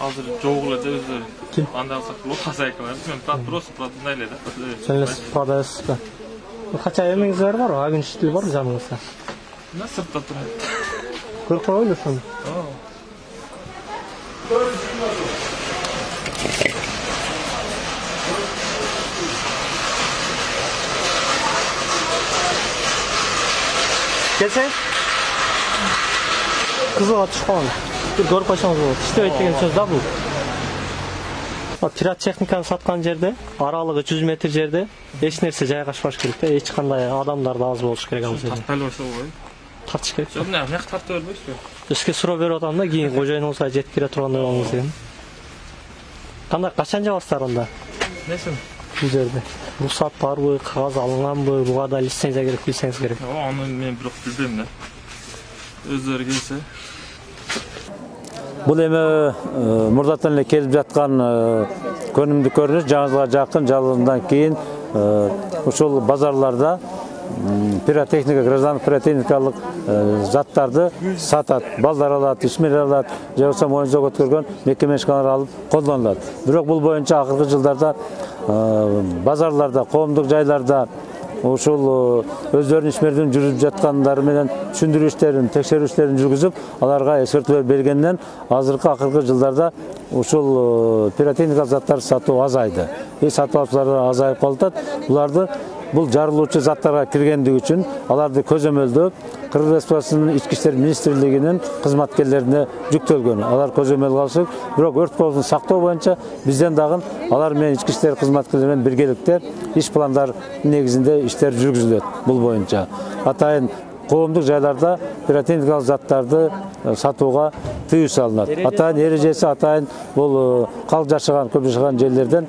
азыр жок эле да өзү. Анда алсак хозяйка бар. Мен просто продумай эле да. Сен продайсыз ба? Кача эмеңиз бар? Агенчтил бар жаныңызда? На сыртта турат. Көрүп коелу ошону. Келсең? Кызыга түшкөн. Бир көрүп койсоңуз болот. Иштебейт деген сөз да бул. Пиротехниканы саткан жерде, аралыгы 100 метр жерде эч нерсе жайгашпаш керек да, эч кандай адамдар да аз болуш керек ал жерде. Тартпай болсо ғой. Тартыш керек. Жок, эмне тартып бербейсизби? Сизге суроо берип атам да, кийин кожоюнуңузга жетип кире тургандай болуңуз деген. Кандай качан жабасыздар анда? Несин? Бул жерде. Рухсат барбы, кагаз алынганбы, буга да лицензия керек, билсеңиз керек. Аны мен бирок билбейм да. Өздөрү келсе. Бул эми мурдатан эле келип жаткан көнүмдүк көрүнүш, жаңы жылга жакын жалындан кийин ушул базарларда пиротехника, граждандык пиротехникалык заттарды сатат. Балдар алат, ишмерлер алат, же болбосо моюнга өткөргөн мекеме ишканалар алып колдонулат. Бирок бул боюнча акыркы жылдарда базарларда, коомдук жайларда ушул өздөрүнүн ишмердин жүрүп жаткандары менен түшүндүрүү иштерин, текшерүү иштерин жүргүзүп, аларга эскертүүлөр бергенден азыркы акыркы жылдарда ушул пиротехникалык заттарды сатуу азайды. Сатып алуучулар азайып калат. Буларды бул жарылуучу заттарга киргендиги үчүн аларды көзөмөлдөп Кыргыз Республикасынын Ички иштер министрлигинин кызматкерлерине жүктөлгөн. Алар көзөмөл алышып, бирок өрт коопсуздугун сактоо боюнча бизден дагы алар менен Ички иштер кызматкерлери менен биргеликте иш пландар негизинде иштер жүргүзүлөт бул боюнча. Атайын коомдук жайларда пиротехникалык заттарды сатууга тыюу салынат. Атайын эрежеси, атайын бул калк жашаган, көп жашаган жерлерден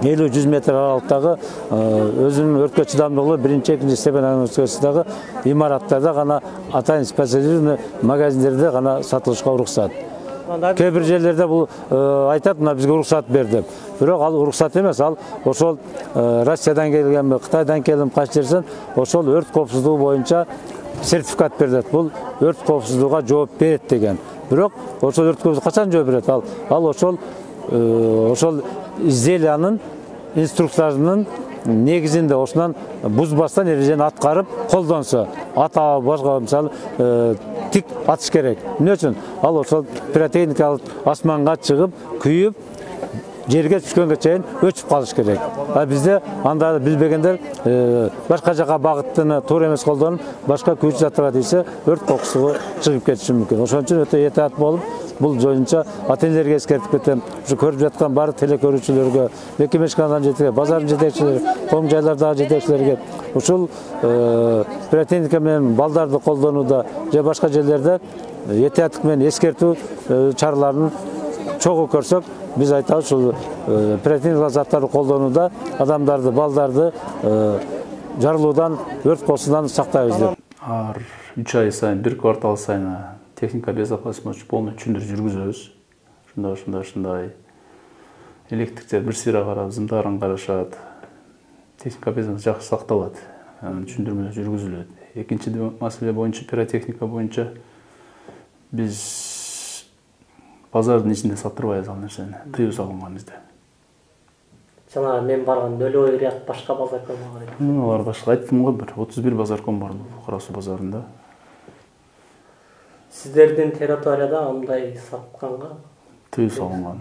50-100 метр аралыктагы өзүнүн өрткө чыдамдуулугу биринчи, экинчи степень агенттигидеги имараттарда гана, атайын специализированный магазиндерде гана сатылышка уруксат. Кээ бир жерлерде бул айтат, мына бизге уруксат бер деп. Бирок ал уруксат эмес, ал ошол Россиядан келгенби, Кытайдан келген кайсы жерден ошол өрт коопсуздугу боюнча сертификат берилет. Бул өрт коопсуздугуга жооп берет деген. Бирок ошол өрт коопсуздугуга качан жооп берет? Ал ошол изделиянын инструкцияларынын негизинде ошонан бузбастан эрежени аткарып колдонсо, ата башка мисалы тик атыш керек. Эмне үчүн? Ал ошол пиротехникалык асманга чыгып, күйүп, жерге түшкөнгө чейин өчүп калыш керек. Бизде анда билбегендер башка жака багыттыны туура эмес колдонуп, башка күйүүчү заттарга тийсе, өрт кокусу чыгып кетиши мүмкүн. Ошон үчүн өтө этаат болуп, бул боюнча ата-энелерге эскертип кетем. Ушу көрүп жаткан баардык телекөрүүчүлөргө, мекеме ишканалардын жетекчилерге, базардын жетекчилерге, коом жайлардагы жетекчилерге ушул пиротехника менен балдарды колдонууда же башка жерлерде этааттык менен эскертүү чараларын чогуу көрсөк, биз айтабыз, ушул пиротехникалык заттарды колдонууда адамдарды, балдарды жарылуудан, өрт коопсуздугунан сактайбыз деп. Ар 3 ай сайын, 1 квартал сайын техника безопасности полный түшүндүрүү жүргүзөбүз. Ушундай электриктер бир сыйра карап, зымдарын карашат. Техника безопасности жакшы сакталат. Түшүндүрмө жүргүзүлөт. Экинчи маселе боюнча, пиротехника боюнча биз базардын ичинде саттырбайбыз ал нерсени. Тыюу салынган бизде. Жана мен барган Нөлөй ряд башка базарком бар. Алар башка айттым го, бир 31 базарком бар Кара Суу базарында. Сиздердин территорияда андай сатканга тыюу салынган.